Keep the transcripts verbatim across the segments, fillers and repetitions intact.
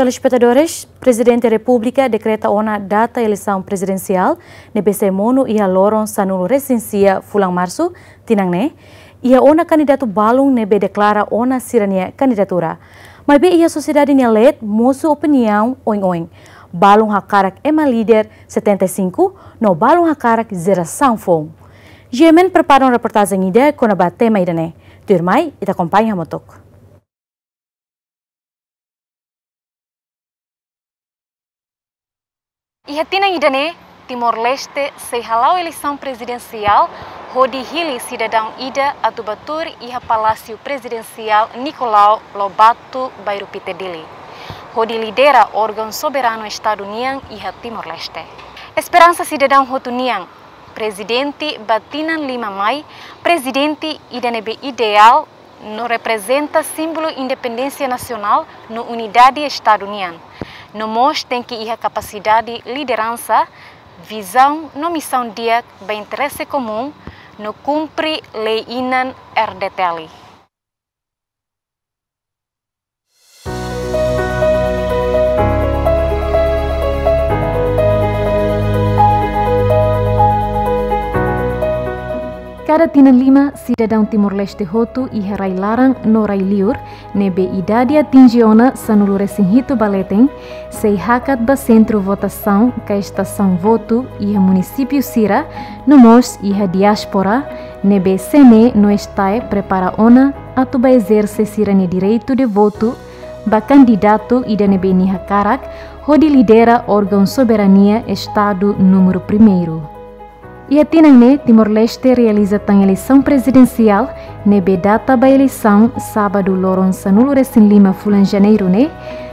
Telespetadores, Prezidente Repúblika dekreta ona data eleisaun prezidensiál ne'ebé sei monu iha loron sanulu-resin-sia fulan Marsu tinan ne'e, iha ona kandidatu balun ne'ebé deklara ona sira-nia kandidatura. Maibé iha sosiedade nia leet mosu opiniaun oin-oin. Balun hakarak ema líder setenta e cinco, no balun hakarak jerasaun foun. G M N prepara ona reportajen ida kona-ba tema ida-ne'e. Tuirmai, ita akompaña hamutuk. Iha tinan ida-ne'e, Timor-Leste sei hala'o eleisaun prezidensiál hodi hili sidadaun ida atu bá tuur iha Palásiu Prezidensiál Nicolau Lobato, Bairru Pite, Dili, hodi lidera órgaun soberanu Estadu nian iha Timor-Leste. Esperansa sidadaun hotu nian, prezidente ba tinan lima mai, prezidente ida ne'ebé ideál no reprezenta símbolu independénsia nasionál no unidade Estadu nian. No mós tenke iha kapasidade lideransa, vizaun no misaun di'ak ba interese komún no kumpre lei-inan R D T L. Kada tinan lima, sidadaun Timor-Leste hotu iha rai-laran no rai-liur, ne'ebé idade atinje ona sanulu-resin-hitu ba leten, sei hakat ba sentru votasaun ka estasaun votu iha munisípiu sira, no mós iha diáspora, ne'ebé CNE no STAE prepara ona atu bá ezerse sira-nia direitu de votu ba kandidatu ida ne'ebé nia hakarak hodi lidera órgaun soberania Estadu númeru primeiru. Iha tinan ne'e, Timor-Leste realiza tan eleisaun prezidensiál ne'ebé data ba eleisaun sábadu loron sanulu-resin-lima fulan Janeiru ne'e.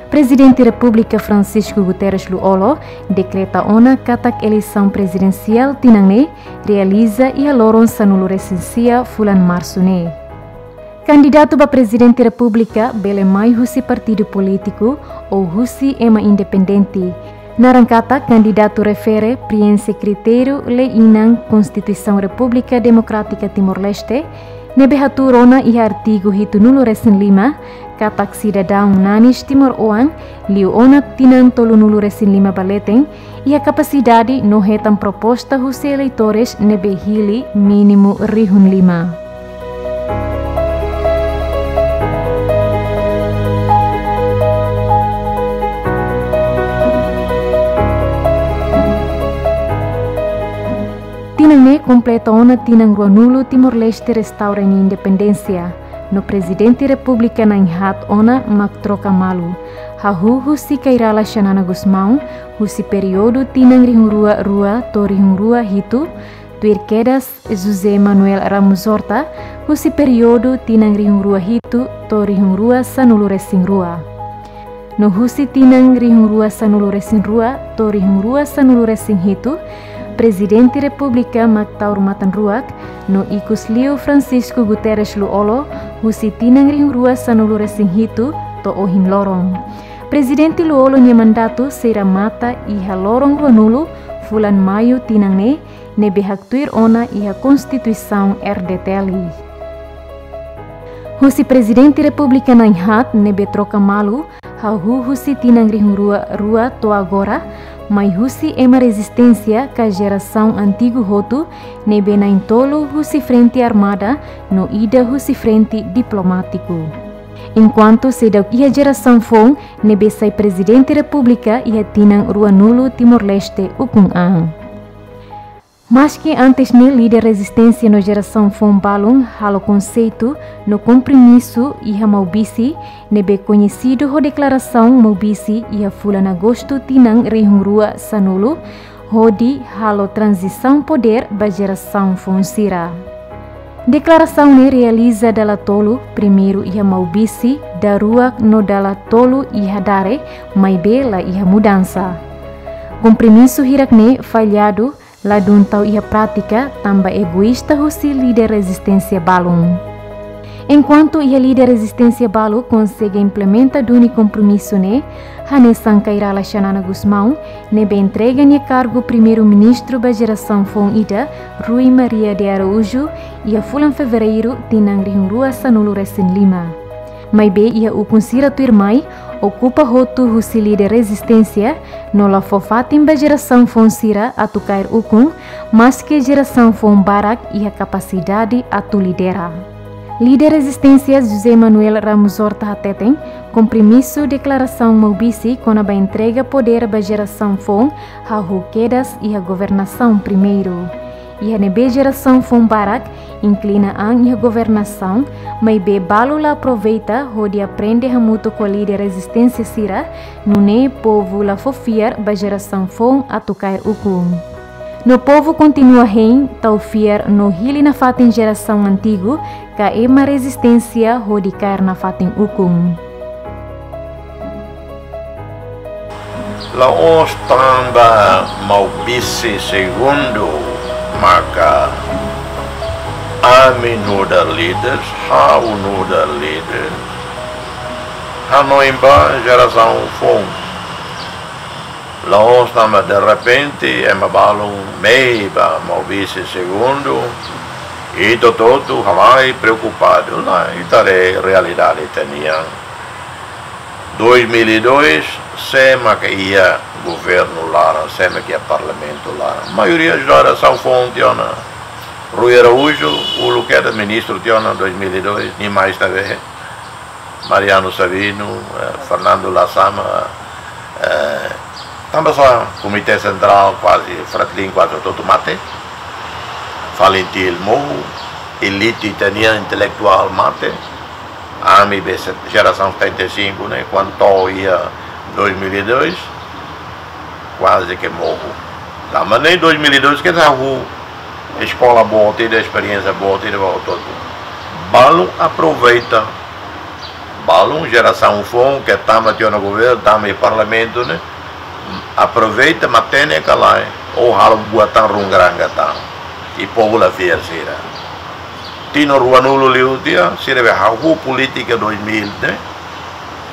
Prezidente Repúblika Francisco Guterres Lú-Olo dekreta ona katak eleisaun prezidensiál tinan ne'e realiza iha loron sanulu-resin-sia fulan Marsu ne'e. Kandidatu ba Prezidente Repúblika bele mai husi partidu polítiku ou husi ema independente. Naran katak kandidatu refere prienxe kritériu lei-inan Konstituisaun Repúblika Demokrátika Timor-Leste, ne'ebé hatuur ona iha artigu hitunulu-resin-lima, katak sidadaun nanis timoroan liu ona tinan tolunulu-resin-lima ba leten, iha kapasidade no hetan proposta husi eleitores ne'ebé hili mínimu rihun lima. Tinan ne'e kompleta ona tinan ruanulu Timor-Leste restaura nia independénsia, no Prezidente Repúblika na'in-haat ona mak troka malu, hahú husi Kay Rala Xanana Gusmão, husi períodu tinan rihun rua rua to'o rihun rua hitu, tuir kedas José Manuel Ramos Horta, husi períodu tinan rihun rua hitu to'o rihun rua sanulu-resin-rua. No husi tinan rihun rua sanulu-resin-rua to'o rihun rua sanulu-resin-hitu, Prezidente Repúblika mak taur matan-ruak, no ikus liu Francisco Guterres Lú-Olo, husi tinan rihun rua sanulu-resin-hitu to'o ohin loron. Prezidente Lú-Olo nia mandatu sei remata iha loron ruanulu fulan Maiu tinan ne'e, ne'ebé haktuir ona iha Konstituisaun R D T L. Husi Prezidente Repúblika na'in-haat ne'ebé troka malu, hahú husi tinan rihun rua rua to'o agora, mai husi ema rezisténsia ka jerasaun antigu hotu, ne'ebé na'in-tolu husi frente armada no ida husi frente diplomátiku. Enkuantu seidauk iha jerasaun foun ne'ebé sai Prezidente Repúblika iha tinan ruanulu Timor-Leste ukun an. Maski antes ne'e líder rezisténsia no jerasaun foun balun halo konseitu no kompromisu iha Maubisse, ne'ebé koñesidu ho Deklarasaun Maubisse iha fulan Agostu tinan rihun rua sanulu, hodi halo tranzisaun podér ba jerasaun foun sira. Deklarasaun ne'e realiza dala tolu, primeiru iha Maubisse, daruak no dala tolu iha Dare, maibé la iha mudansa. Kompromisu hirak-ne'e falladu, ladún tau iha prátika, tanba egoísta husi líder rezisténsia balun. Enkuantu iha líder rezisténsia balu konsege implementa duni kompromisu ne'e, hanesan Kay Rala Xanana Gusmão, ne'ebé entrega nia kargu Primeiru-Ministru ba jerasaun foun ida, Rui Maria de Araújo, iha fulan Fevereiru tinan rihun rua sanulu-resin-lima. Maibé iha ukun sira tuirmai, okupa hotu husi líder rezisténsia, no la fó fatin ba jerasaun foun sira atu kaer ukun, maske jerasaun foun barak iha kapasidade atu lidera. Líder rezisténsia José Manuel Ramos Horta hateten, kompromisu deklarasaun Maubisse kona-ba entrega podér ba jerasaun foun hahú kedas iha governasaun primeiru. Iha ne'ebé jerasaun foun barak inklina an iha governasaun, maibé balu la aproveita hodi aprende hamutuk ho líder rezisténsia sira, nune'e povu la fó fiar ba jerasaun foun atu kaer ukun. No povu kontinua hein tau fiar no hili nafatin jerasaun antigu ka ema rezisténsia hodi kaer nafatin ukun. La'ós tanba Maubisse Segundu maka ami nu'udar líder, ha'u nu'udar líder, hanoin ba jerasaun foun. La'ós tanba derrepente ema balun mehi ba Maubisse Segundu, ita hotu-hotu halai preokupadu, lae, ita haree realidade ita-nian. Dois mil e dois, sé maka iha governu laran, sé maka iha parlamentu laran? Maioria jerasaun foun tiha ona. Rui Araújo, uluk kedas ministru tiha ona dois mil e dois, nia mai ita bele. Mariano Sabino, eh, Fernando Lasama, eh, tanba sá Komité Sentrál kuaze, Fretilin kuaze hotu-hotu mate. Falintil mohu, elite ita-nian intelektuál mate. Ami be se-, jerasaun setenta e cinco ne'e, kuandu to'o iha dois mil e dois, kuaze ke mohu. Tanba ne'e dois mil e dois ke hahú eskola boot ida, esperiénsia boot ida ba hotu-hotu. Balun aproveita, balun jerasaun foun ke tama tiha ona governu, tama iha parlamentu ne'e, aproveita, matenek ka lae, ou halo buat tan runguranga tan. I povu la fiar sira. Tinan ruanulu liu tiha, sira be hahú polítika dois mil ne'e,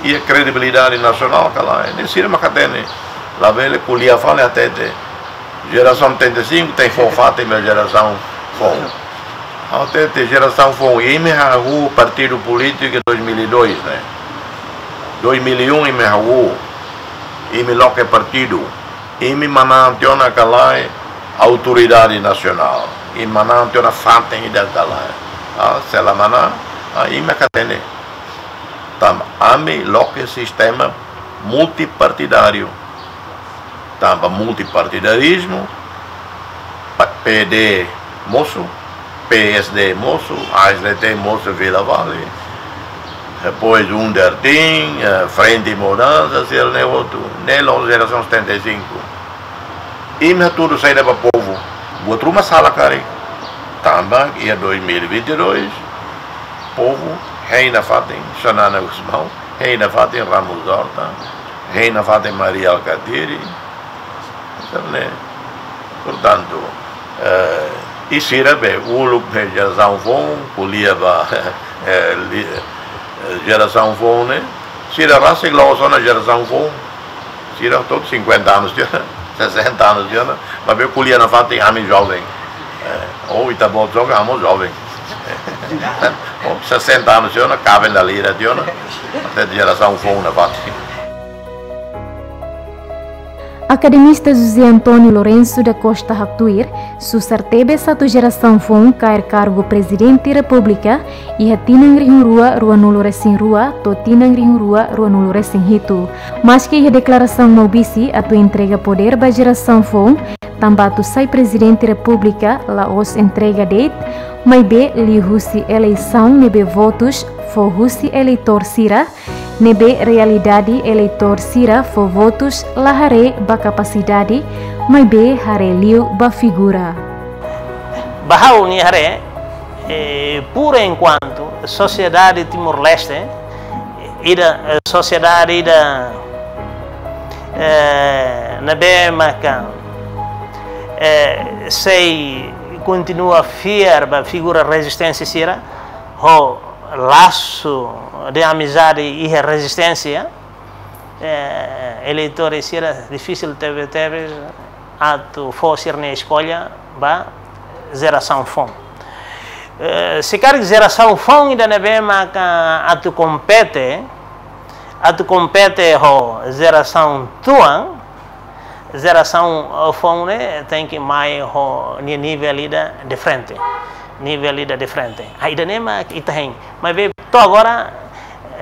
iha kredibilidade nasionál ka lae, ne'e sira mak hatene. Labele ko'alia fali hatete jerasaun setenta e cinco tenke fó fatin ba jerasaun foun. Hatete jerasaun foun, imi hahú partidu polítiku dois mil e dois ne'e. Dois mil e um imi hahú, imi loke partidu, imi manán tiha ona ka lae autoridade nasionál, imi manán tiha ona fatin ida ka lae. Ah, se la manán, ah, imi mak hatene. Tanba ami loke sistema multipartidáriu. Tanba multipartidarizmu, pa-, P D mosu, P S D mosu, A S D T mosu, Vila Vale, depois UNDER tin, eh, Frente Mudansa, sira ne'e hotu, ne'e la'ós jerasaun setenta e cinco. Imi hatudu saida ba povu, buat ruma sala karik. Tanba iha dois mil e vinte e dois, povu hein nafatin Xanana Gusmão, hein nafatin Ramos Horta, hein nafatin Mari Alkatiri. Entaun, ne'e, portantu, eh, i sira be, uluk be jerasaun foun, ko'alia ba, eh, li-, eh, jerasaun foun ne'e, sira rasik la'ós ona jerasaun foun, sira hotu cinquenta anos tiha ona, sessenta anos tiha ona, maibé ko'alia nafatin ami joven. Eh, ou ita-boot joven, ami joven. Ou sessenta anos tiha ona, kaben dala hira tiha ona, até jerasaun foun nafatin. Akademista José António Lourenço da Costa haktuir, susar tebes atu jerasaun foun kaer kargu Prezidente Repúblika iha tinan rihun rua ruanulu resin rua to'o tinan rihun rua ruanulu resin hitu. Maske iha deklarasaun Maubisse atu entrega podér ba jerasaun foun, tanba atu sai Prezidente Repúblika la'ós entrega de'it, maibé liuhusi eleisaun ne'ebé votus fó husi eleitór sira, ne'ebé realidade eleitór sira fó votus la haree ba kapasidade, maibé haree liu ba figura. Ba ha'u-nia haree, eh, por enquanto, sosiedade Timor-Leste, ida, eh, sosiedade ida, eh, ne'ebé maka, eh, sei kontinua fiar ba figura rezisténsia sira, ho lasu de amizade iha rezisténsia, eh, eleitór sira difisil tebetebes atu fó sira-nia eskolla ba jerasaun foun. Eh, se karik jerasaun foun ida ne'ebé maka atu kompete, atu kompete ho jerasaun tuan, jerasaun, eh, foun ne'e tenke mai ho ni-, nivel ida diferente. Nivel ida diferente. Ah, ida-ne'e mak ita hein. Maibé to'o agora,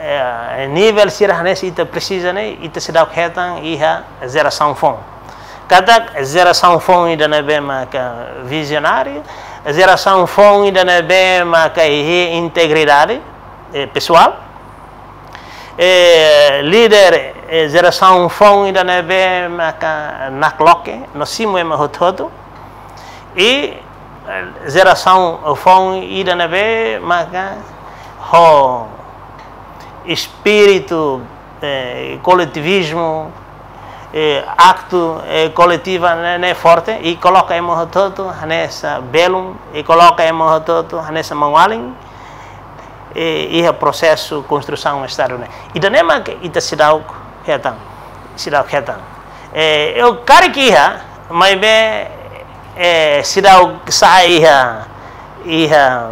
eh, nivel sira hanesan ita presiza ne'e, ita seidauk hetan iha jerasaun foun. Katak jerasaun foun ida ne'ebé maka vizionáriu, jerasaun foun ida ne'ebé maka iha integridade, eh, pesoál. Eh, líder, eh, jerasaun foun ida ne'ebé maka nakloke, no simu ema hotu-hotu. I, eh, jerasaun foun ida ne'ebé maka ho espíritu, eh, koletivizmu, eh, aktu, eh, koletiva ne'e, ne'e forte, i koloka ema hotu-hotu hanesan belun, i koloka ema hotu-hotu hanesan maun-alin, eh, iha prosesu konstrusaun Estadu ne'e. Ida-ne'e mak ita seidauk hetan, seidauk hetan. Eh, eu karik iha, maibé, eh, seidauk sa'e iha, iha,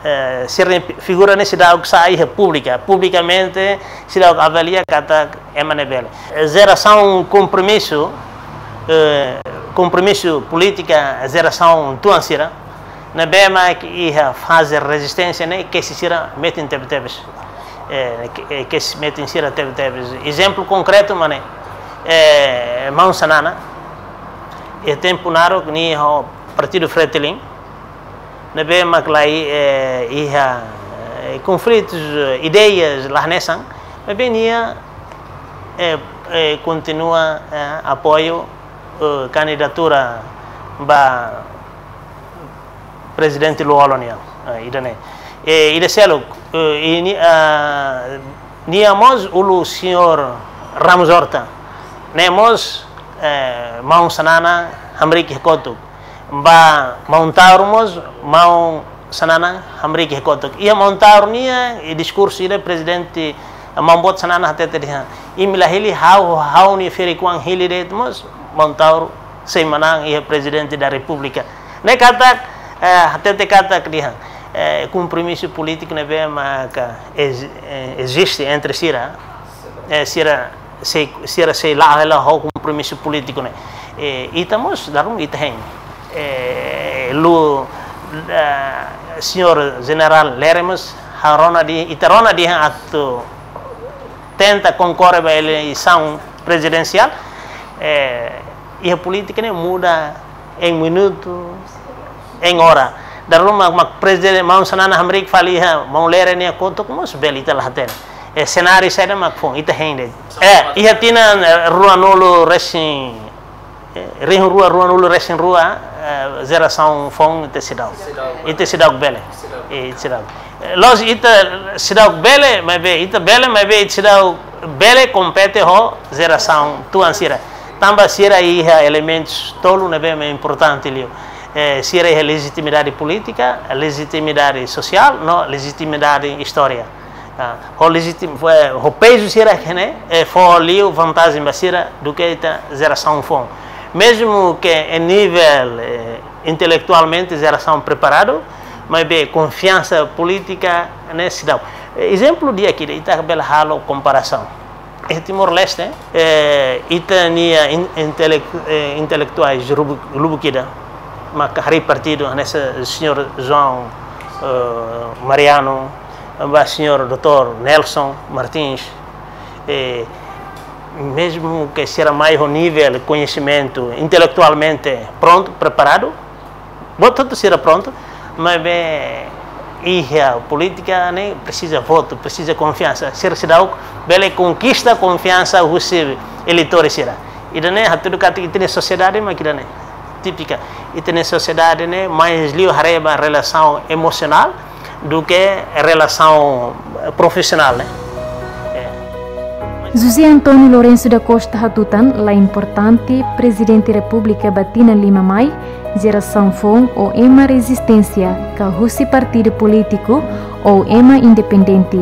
eh, sira-nia figura ne'e seidauk sa'e iha públika, publikamente seidauk avalia katak ema ne'e bele. Eh, jerasaun kompromisu, eh, kompromisu polítika jerasaun tuan sira, ne'ebé mak iha faze rezisténsia ne'e, kesi sira metin tebetebes. Eh, ke-, eh, kesi metin sira tebetebes. Ezemplu konkretu mak ne'e, eh, maun Xanana, iha tempu naruk nia ho Partidu Fretilin, ne'ebé mak lai, eh, iha, eh, konflitus, eh, ideias la hanesan, maibé nia, eh, eh, kontinua, eh, apoiu, eh, kandidatura ba Prezidente Lú-Olo nian, eh, ida-ne'e. Eh, ida seluk, eh, i ni-, ah, nia mós uluk señór Ramos Horta. Ne'e mós, eh, maun Xanana hamriik iha kotuk. Ba maun Taur mós, maun Xanana hamriik iha kotuk. Iha maun Taur nia, i diskursu ida Prezidente Maun Boot Xanana hatete dehan: imi la hili ha'u, ha'u-nia ferik-oan hili de'it mós, maun Taur sei manán iha Prezidente da Repúblika. Ne'e katak, eh, hatete katak dehan, eh, kompromisu polítiku ne'ebé maka ez-, eh, eziste entre sira, eh, sira sei, sira sei la'o hela ho kompromisu polítiku ne'e. Eh, ita mós, dala ruma ita hein. Eh, lu, eh, señór Jenerál Lere mós, ha'u rona dehan, ita rona dehan atu tenta konkorre ba eleisaun prezidensiál, eh, iha polítika ne'e muda em minutu, em hora. Dala ruma mak, mak prezidente, maun Xanana hamriik fali iha maun Lere nia kotuk mós bele, ita la hatene. Eh, senáriu saida mak foun, ita hein de'it. Eh, iha tinan, eh, ruanulu resin, eh, rihun rua, ruanulu resin rua, eh, jerasaun foun ita seidauk. Seidauk. Ita seidauk bele. Seidauk. Eh, seidauk. Eh, loos, ita seidauk bele, maibé ita bele, maibé ita seidauk bele kompete ho jerasaun tuan sira. Tanba sira iha elementus tolu ne'ebé mak importante liu. Eh, sira iha lejitimidade polítika, lejitimidade sosiál, no lejitimidade istória. Ah, ho lejitim-, eh, ho pezu sira-ne'e, eh, fó liu vantajen ba sira duké ita jerasaun foun. Mezmu ke em nivel, eh, intelektualmente jerasaun preparadu, maibé konfiansa polítika ne'e seidauk. Eh, ezemplu di'ak ida, ita bele halo komparasaun. Iha Timor-Leste, eh, ita-nia in-, intelek-, eh, intelektuais lubu-, lubuk ida maka harii partidu, hanesan señór João, eh, Mariano, ba señór doutór Nelson Martins, eh, mezmu ke sira mai ho nivel koñesimentu intelektualmente prontu, preparadu, buat hotu sira prontu, maibé iha polítika ne'e presiza votu, presiza konfiansa. Sira seidauk bele konkista konfiansa husi eleitór sira. Ida-ne'e hatudu katak ita-nia sosiedade mak ida-ne'e. Típika. Ita-nia sosiedade ne'e mais liu haree ba relasaun emosionál duké relasaun, eh, profisionál, ne'e. Eh. José António Lourenço da Costa hatutan, la importante Prezidente Repúblika ba tinan lima mai, jerasaun foun ou ema rezisténsia, ka husi partidu polítiku ou ema independente.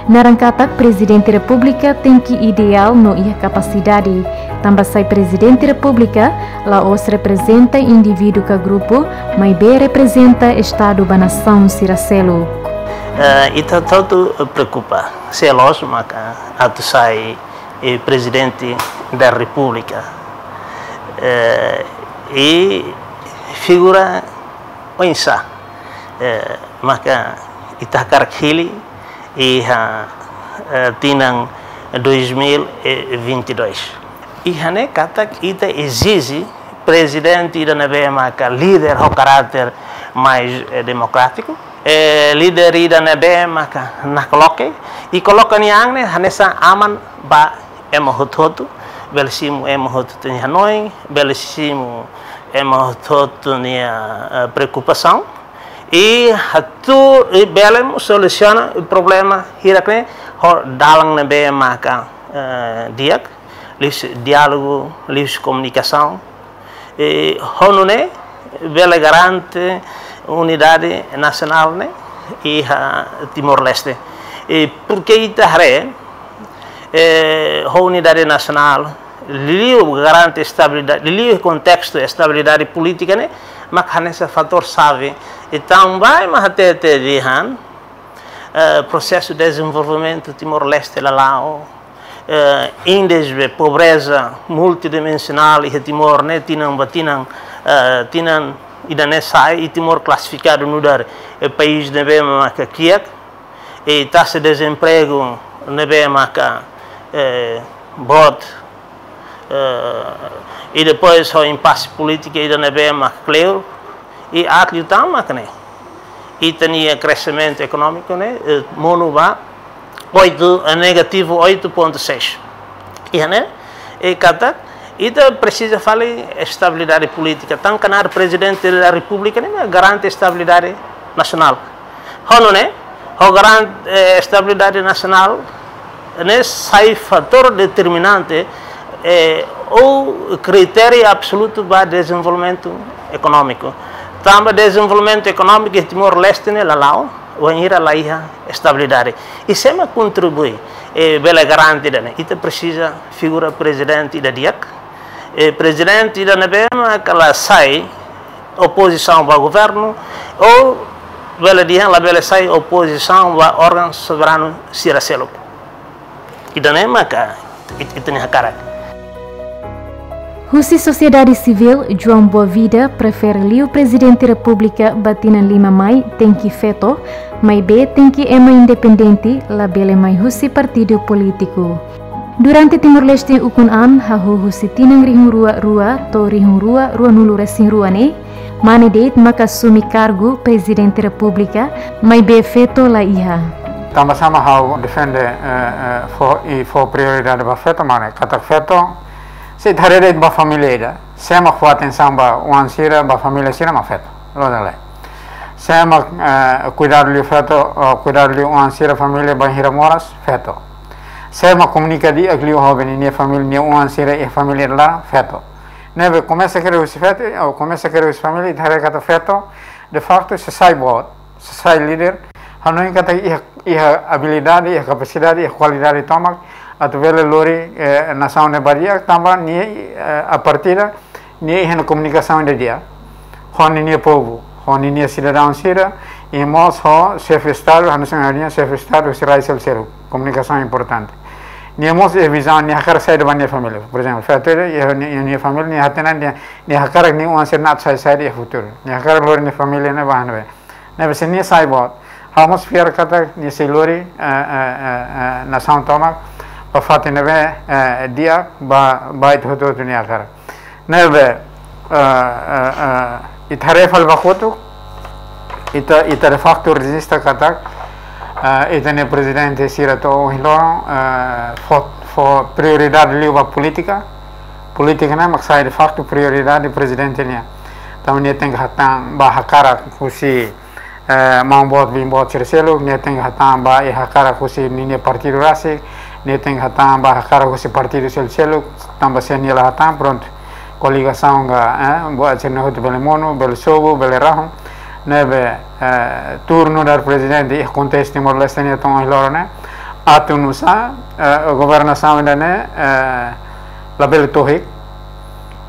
Naran katak Prezidente Repúblika tenke ideál no iha kapasidade, Tanba sai Prezidente Repúblika la'ós reprezenta indivíduu ka grupu, maibé reprezenta Estadu ba nasaun sira seluk. Eh, ita hotu preokupa, se loos maka atu sai, eh, Prezidente da Repúblika. Eh, i figura oinsá, eh, maka ita hakarak hili iha, eh, tinan dois mil e vinte e dois. Iha ne'e katak ita ezije prezidente ida ne'ebé maka líder ho karáter mais, eh, demokrátiku, eh, líder ida ne'ebé maka nakloke, i koloka nia an ne'e hanesan aman ba ema hotu-hotu, bele simu ema hotu-hotu nia hanoin, bele simu ema hotu-hotu nia, eh, preokupasaun, i atu, i bele solusiona problema hirak ne'e ho dalan ne'ebé maka, eh, di'ak, liuhusi diálogu, liuhusi komunikasaun, i ho nune'e bele garante unidade nasionál ne'e iha Timor-Leste. I porke ita haree, eh, ho unidade nasionál, liuliu garante estabilidade, liuliu kontestu estabilidade polítika ne'e, mak hanesan fatór xave. Entaun, ba ema hatete dehan, eh, prosesu dezenvolvimentu Timor-Leste la la'o, eh, índice de pobreza multidimensionál iha Timor ne'e tinan ba tinan, eh, tinan ida-ne'e sa'e, i Timor klasifikadu nu'udar, eh, país ne'ebé maka kiak, i taxa dezempregu ne'ebé maka, eh, boot, eh, i depois ho impase polítika ida ne'ebé maka kleur, i aat liután maka ne'e ita-nia kreximentu ekonómiku ne'e, eh, monu ba oito, eh, negativu oito ponto seis. Iha ne'e, eh, katak ita presiza fali estabilidade polítika. Tan knaar Prezidente da Repúblika ne'e garante estabilidade nasionál. Ho nune'e, ho garante, eh, estabilidade nasionál ne'e sai fatór determinante, eh, ou kritériu absolutu ba dezenvolvimentu ekonómiku. Tanba dezenvolvimentu ekonómiku iha Timor-Leste ne'e la la'o, wainhira la iha estabilidade. I sé mak kontribui, eh, bele garante ida-ne'e? Ita presiza figura prezidente ida di'ak, eh, prezidente ida ne'ebé maka la sai opozisaun ba governu, ou bele dehan labele sai opozisaun ba órgaun soberanu sira seluk. Ida-ne'e maka it-, ita-nia hakarak. Husi sosiedade sivíl, João Boavida prefere liu Prezidente Repúblika ba tinan lima mai tenke feto, maibé tenke ema independente, labele mai husi partidu polítiku. Durante Timor-Leste ukun an, hahú husi tinan rihun rua rua to'o rihun rua ruanulu resin rua ne'e, mane de'it maka asume kargu Prezidente Repúblika, maibé feto la iha. Tanba sá mak ha'u defende, eh, eh, fó, i fó prioridade ba feto, mane katak feto, se ita haree de'it ba família ida, sé mak fó atensaun ba oan sira, ba família sira mak feto. Loos ka lae? Sé mak, eh, kuidadu liu feto, eh, kuidadu liu oan sira família bainhira moras, feto. Sé mak komunika di'ak liu ho ninia família, nia oan sira iha família laran, feto. Ne'ebé komesa kere husi feto, ou komesa kere husi família, ita haree katak feto, de facto, sei sai boot, sei sai líder, hanoin katak iha, iha abilidade, iha kapasidade, iha kualidade tomak, atu bele lori, eh, nasaun ne'e ba di'ak, tanba nia, eh, a partida, nia iha ona komunikasaun ida di'ak ho ninia povu, ho ninia sidadaun sira, i mós ho xefe Estadu, hanesan ninia xefe Estadu, husi rai seluk-seluk, komunikasaun importante. Nia mós iha vizaun, nia hakarak saida ba nia família. Por ezemplu, feto ida, iha nia, nia família, nia hatene, nia, nia hakarak nia oan sira na'in sai saida iha futuru. Nia hakarak lori nia família ne'e ba ne'ebé. Ne'ebé se nia sai boot, ha'u mós fiar katak nia sei lori, eh, eh, eh, eh, nasaun tomak ba fatin ne'ebé, eh, di'ak ba, ba ita hotu-hotu nia hakarak. Ne'ebé, eh, eh, eh, ita haree fali ba kotuk, ita, ita de facto rejista katak, eh, ita-nia prezidente sira to'o ohin loron, eh, fó, fó prioridade liu ba polítika, polítika ne'e mak sai de facto prioridade prezidente nian. Tanba nia tenke hatán ba hakarak husi, eh, maun boot, biin boot sira seluk, nia tenke hatán ba iha hakarak husi ninia partidu rasik, nia tenke hatán ba hakarak husi partidu seluk-seluk, tanba se nia la hatán, prontu. Koligasaun ka, eh, buat sira-ne'e hotu bele monu, bele sobu, bele rahun. Ne'ebé, eh, tuur nu'udar prezidente iha kontestu Timor-Leste nian to'o ohin loron ne'e, atu nu'usá, eh, governasaun ida-ne'e, eh, labele tohik,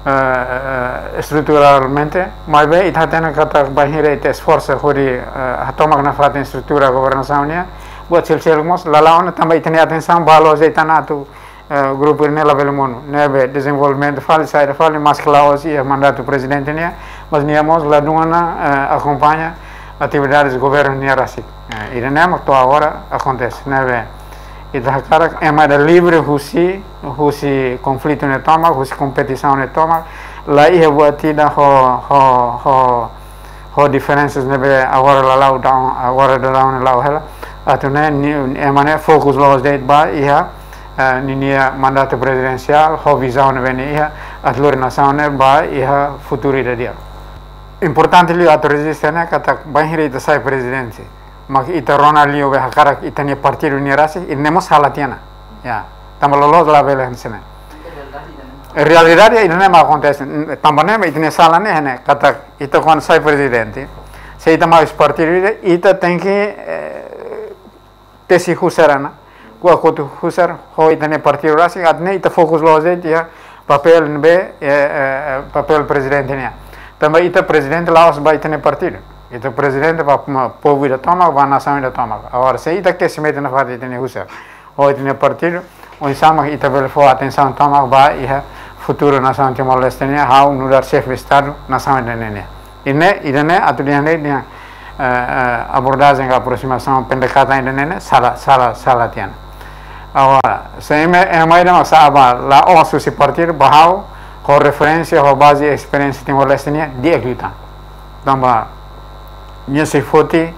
eh, eh, estruturalmente, maibé ita hatene katak bainhira ita esforsa hodi, eh, hatomak nafatin estrutura governasaun nian, buat seluk-seluk mós, la la'o ona tanba ita-nia atensaun ba la'ós de'it ona atu, eh, grupu ne'e labele monu, ne'ebé dezenvolvimentu fali, saida fali, maski la'ós iha mandatu prezidente nian, mas nia mós ladún ona, eh, akompaña atividades governu nian rasik. Eh, ida-ne'e mak to'o agora akontese, ne'ebé ita hakarak ema ida livre husi, husi konflitu ne'e tomak, husi kompetisaun ne'e tomak, la iha buat ida ho, ho, ho, ho diferensas ne'ebé agora la la'o daudaun, agora daudaun ne'e la'o hela. Atu nune'e, ni, ema ne'e fokus la'ós de'it ba iha, eh, ninia mandatu prezidensiál, ho vizaun ne'ebé nia iha, atu lori nasaun ne'e ba iha futuru ida di'ak. Importante liu atu rejista ne'e katak bainhira ita sai prezidente, mak ita rona liu be hakarak ita-nia partidu nian rasik, ida-ne'e mós sala tiha ona. Ya, tanba loloos labele hanesan ne'e. Realidade ida-ne'e mak akontese, tanba ne'e mak ita-nia sala ne'e, ne'e, katak ita kuandu sai prezidente, se ita mai husi partidu ida, ita tenke, eh, tesi husar ona, ko'a kotuk husar ho ita-nia partidu rasik, atu nune'e ita fokus la'ós de'it iha papél ne'ebé, eh, eh, eh, papél prezidente nian. Tanba ita prezidente la'ós ba ita-nia partidu. Ita prezidente ba, ma, povu ida tomak, ba nasaun ida tomak. Agora, se ita kesi mete nafatin ita-nia husar ho ita-nia partidu, oinsá mak ita bele fó atensaun tomak ba iha futuru nasaun Timor-Leste nian, ha'u nu'udar xefe Estadu nasaun ida-ne'e nian. Ida-ne'e, ida-ne'e atu dehan de'it dehan, eh, eh, abordajen ka aprosimasaun pendekatan ida-ne'e ne'e sala, sala, sala tiha ona. Agora, se ema, ema ida mak sa'e ba la'ós husi partidu, ba ha'u, ho referénsia, ho baze esperiénsia Timor-Leste nian, di'ak liután. Tanba nia sei foti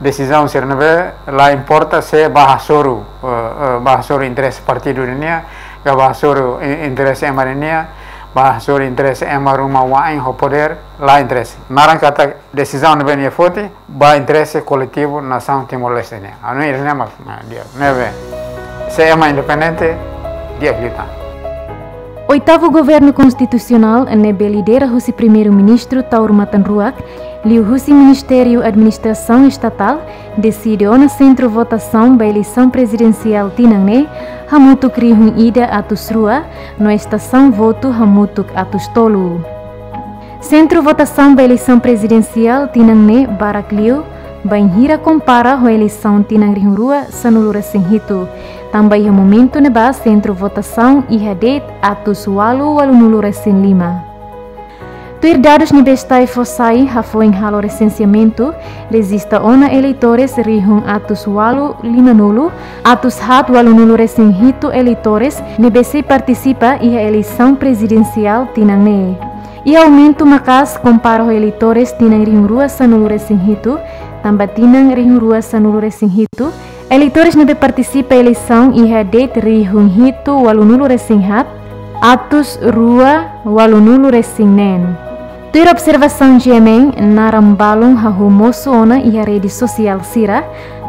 desizaun sira ne'ebé la importa se ba hasoru, eh, eh, ba hasoru interese partidu nian, ka ba hasoru i-, interese ema nian, ba hasoru interese ema ruma wa'in ho podér, la interese. Naran katak desizaun ne'ebé nia foti ba interese koletivu nasaun Timor-Leste nian. Anu ida-ne'e mak, nah, di'ak. Ne'ebé, se ema independente, di'ak liután. Oitavu Governu Konstitusionál ne'ebé lidera husi Primeiru-Ministru Taur Matan Ruak, liuhusi Ministériu Administrasaun Estatál, deside ona sentru votasaun ba eleisaun prezidensiál tinan ne'e, hamutuk rihun ida atus rua, no estasaun votu hamutuk atus tolu. Sentru votasaun ba eleisaun prezidensiál tinan ne'e barak liu, bainhira kompara ho eleisaun tinan rihun rua sanulu resin hitu. Tanba iha momentu ne'ebá sentru votasaun iha de'it atus ualu ualunulu resin lima. Tuir dadus ne'ebé STAE fó sai hafoin halo resenseamentu, rejista ona eleitores rihun atus ualu limanulu, atus haat ualunulu resin hitu eleitores ne'ebé sei partisipa iha eleisaun prezidensiál tinan ne'e. Iha aumentu maka'as kompara ho eleitores tinan rihun rua sanulu resin hitu, tanba tinan rihun rua sanulu resin hitu, eleitores ne'ebé partisipa eleisaun iha de'it rihun hitu ualunulu resin haat, atus rua ualunulu resin neen. Tuir observasaun G M N, naran balun hahú mosu ona iha rede sosiál sira,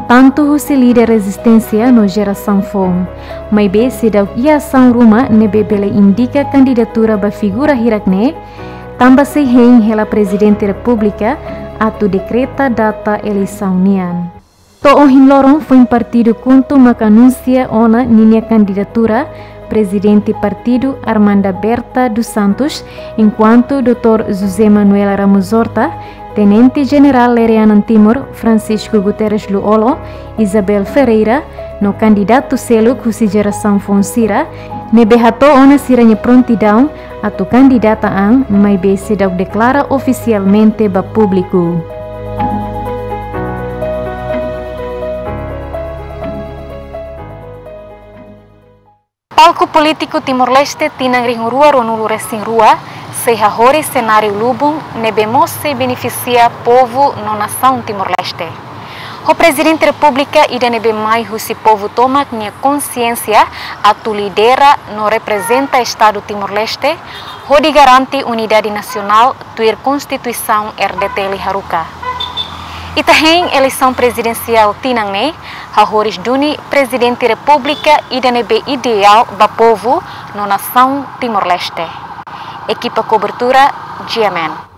tantu husi líder rezisténsia no jerasaun foun. Maibé seidauk iha asaun ruma ne'ebé bele indika kandidatura ba figura hirak-ne'e, tanba sei hein hela Prezidente Repúblika atu dekreta data eleisaun nian. To'o ohin loron foin partidu KHUNTO maka anunsia ona ninia kandidatura, Prezidente partidu Armanda Berta dos Santos, enkuantu doutór José Manuel Ramos Horta, Tenente Jenerál Lere Anan Timur Francisco Guterres Lú-Olo, Isabel Ferreira, no kandidatu seluk husi jerasaun foun sira, ne'ebé hato'o ona sira-nia prontidaun atu kandidata an, maibé seidauk deklara ofisialmente ba públiku. Palku polítiku Timor-Leste tinan rihun rua ruanulu resin rua, sei hahoris senáriu lubun ne'ebé mós sei benefisia povu no nasaun Timor-Leste. Ho Prezidente Repúblika ida ne'ebé mai husi povu tomak nia konsiénsia atu lidera no reprezenta Estadu Timor-Leste, hodi garante unidade nasionál tuir Konstituisaun R D T L haruka. Ita hein eleisaun prezidensiál tinan ne'e, hahoris duni Prezidente Repúblika ida ne'ebé ideál ba povu no nasaun Timor-Leste. Ekipa kobertura, G M N.